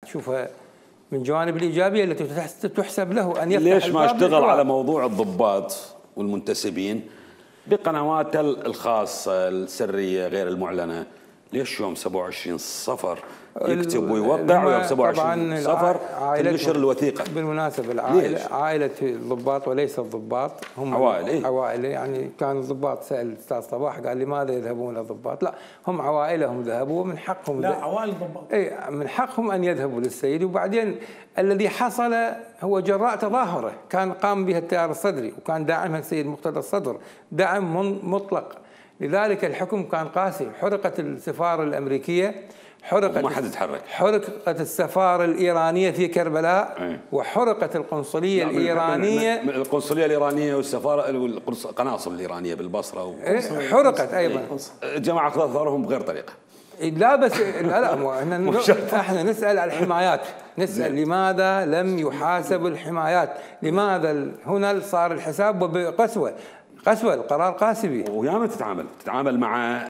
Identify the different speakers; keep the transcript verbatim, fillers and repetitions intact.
Speaker 1: تشوفها من جوانب الايجابيه التي تحسب له ان يفتح
Speaker 2: ليش ما اشتغل
Speaker 1: الحوار
Speaker 2: على موضوع الضباط والمنتسبين بقنواته الخاصه السريه غير المعلنه؟ ليش يوم سبعة وعشرين صفر يكتب ويوقع ويوم سبعة وعشرين صفر تنشر الوثيقه؟
Speaker 1: بالمناسبه العائله عائله الضباط وليس الضباط، هم
Speaker 2: عوائل. إيه؟
Speaker 1: عوائل يعني كان الضباط سال الاستاذ صباح قال لماذا يذهبون الضباط؟ لا، هم عوائلهم ذهبوا ومن حقهم.
Speaker 3: لا، عوائل الضباط
Speaker 1: اي من حقهم ان يذهبوا للسيد. وبعدين الذي حصل هو جراء تظاهره كان قام بها التيار الصدري وكان داعمها السيد مقتدى الصدر دعم مطلق، لذلك الحكم كان قاسي. حرقت السفاره الامريكيه، حرقت
Speaker 2: ما حد يتحرك،
Speaker 1: حرقت السفاره الايرانيه في كربلاء، أي. وحرقت القنصليه الايرانيه،
Speaker 2: القنصليه الايرانيه والسفاره القناصل الايرانيه بالبصره و...
Speaker 1: حرقت ايضا.
Speaker 2: جماعه ثارهم بغير طريقه.
Speaker 1: لا بس لا لا احنا احنا نسال على الحمايات، نسال لماذا لم يحاسب الحمايات؟ لماذا هنا صار الحساب بقسوه؟ قسوه، القرار قاسي.
Speaker 2: وياما تتعامل تتعامل مع